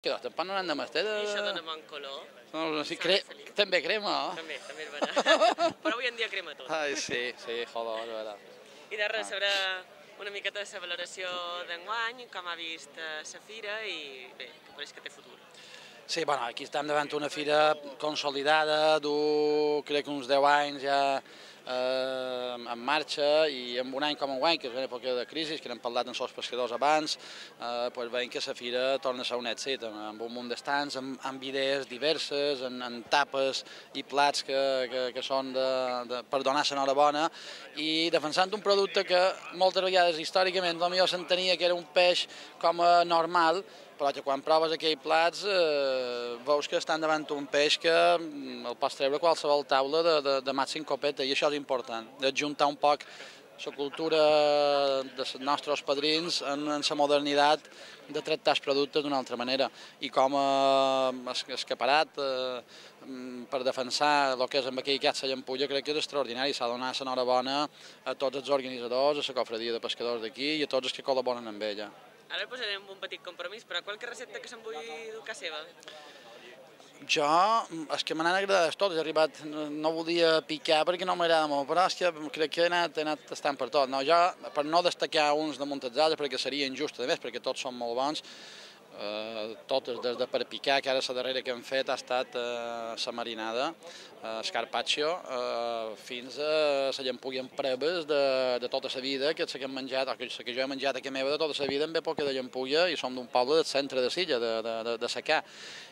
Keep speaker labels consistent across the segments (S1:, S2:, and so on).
S1: Que tampoc no n'han de mestre.
S2: I això dona bon color.
S1: No, sí, també crema, no?
S2: També és veritat. Però avui en dia crema tot.
S1: Ai, sí, joder, és veritat.
S2: I de res, sabrà una miqueta de la valoració d'enguany, com ha vist la fira i bé, que pareix que té futur.
S1: Sí, bueno, aquí estem davant una fira consolidada, crec que uns 10 anys ja en marxa, i en un any com enguany, que és una època de crisi, que n'hem parlat amb els pescadors abans, doncs veiem que la fira torna a ser un èxit, amb un munt d'estants, amb idees diverses, amb tapes i plats que són per donar l'enhorabona, i defensant un producte que moltes vegades històricament potser s'entenia que era un peix com a normal, però que quan proves aquells plats veus que estan davant un peix que el pots treure a qualsevol taula de màxim copeta, i això és important, d'adjuntar un poc la cultura dels nostres padrins en la modernitat de tractar els productes d'una altra manera. I com a escaparat per defensar el que és amb aquell gat la llampulla, crec que és extraordinari. S'ha de donar l'enhorabona a tots els organitzadors, a la cofradia de pescadors d'aquí i a tots els que col·laboren amb ella.
S2: Ara posarem un petit compromís, però qualque recepta que se'n vulgui dur a seva?
S1: Jo, és que me n'han agradat totes, he arribat, no volia picar perquè no m'agrada molt, però és que crec que he anat tastant per tot. No, jo, per no destacar uns damunt els altres, perquè seria injust, a més, perquè tots són molt bons, totes, des de per picar, que ara la darrera que hem fet ha estat la marinada, el carpaccio, fins a la llampulla amb preves de tota la vida, que hem menjat, o que jo he menjat a casa meva de tota la vida, en època de llampulla, i som d'un poble del centre de Silla, de Secà,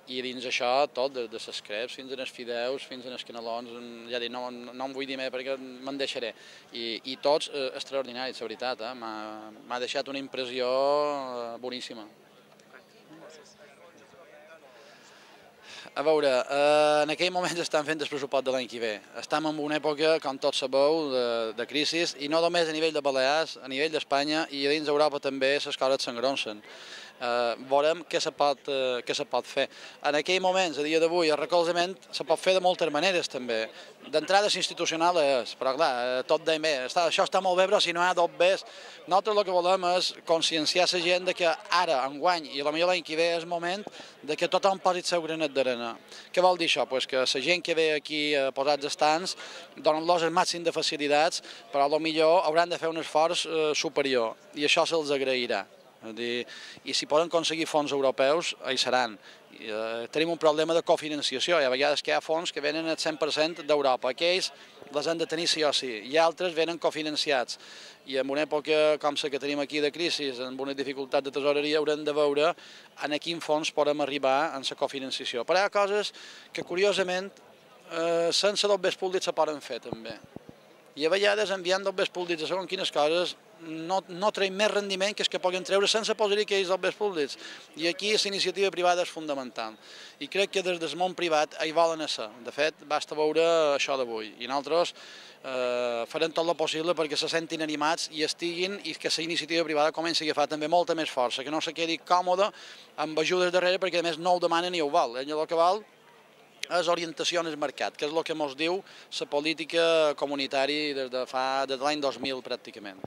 S1: i dins això tot, de les creps fins als fideus, fins als canelons, ja dic, no em vull dir més perquè me'n deixaré, i tots extraordinaris, la veritat, m'ha deixat una impressió boníssima. A veure, en aquell moment estan fent el pressupost de l'any que ve. Estem en una època, com tots sabeu, de crisi, i no només a nivell de Balears, a nivell d'Espanya, i a dins d'Europa també les coses s'engronsen. Veurem què se pot fer. En aquells moments, a dia d'avui, el recolzament se pot fer de moltes maneres també. D'entrada institucional és, però clar, tot deim bé, això està molt bé, però si no hi ha dos bés, nosaltres el que volem és conscienciar la gent que ara, enguany, i potser l'any que ve és moment que tothom posi el seu granet d'arena. Què vol dir això? Que la gent que ve aquí a posar els estants donen-los el màxim de facilitats, però potser hauran de fer un esforç superior, i això se'ls agrairà. I si poden aconseguir fons europeus, hi seran. Tenim un problema de cofinanciació, i a vegades que hi ha fons que venen al 100% d'Europa. Aquells les han de tenir sí o sí, i altres venen cofinanciats. I en una època com la que tenim aquí de crisi, amb una dificultat de tesoreria, haurem de veure en quin fons podem arribar en la cofinanciació. Però hi ha coses que, curiosament, sense dobbers públics se poden fer també. I a vegades enviant dobbers públics a segons quines coses no traiem més rendiment que els que puguin treure sense posar-hi aquells dobbers públics. I aquí la iniciativa privada és fundamental. I crec que des del món privat hi volen ser. De fet, basta veure això d'avui. I nosaltres farem tot el possible perquè se sentin animats i estiguin, i que la iniciativa privada comenci a agafar també molta més força, que no se quedi còmode amb ajudes darrere, perquè a més no ho demanen ni ho val. El que val és orientació en el mercat, que és el que ens diu la política comunitària des de l'any 2000 pràcticament.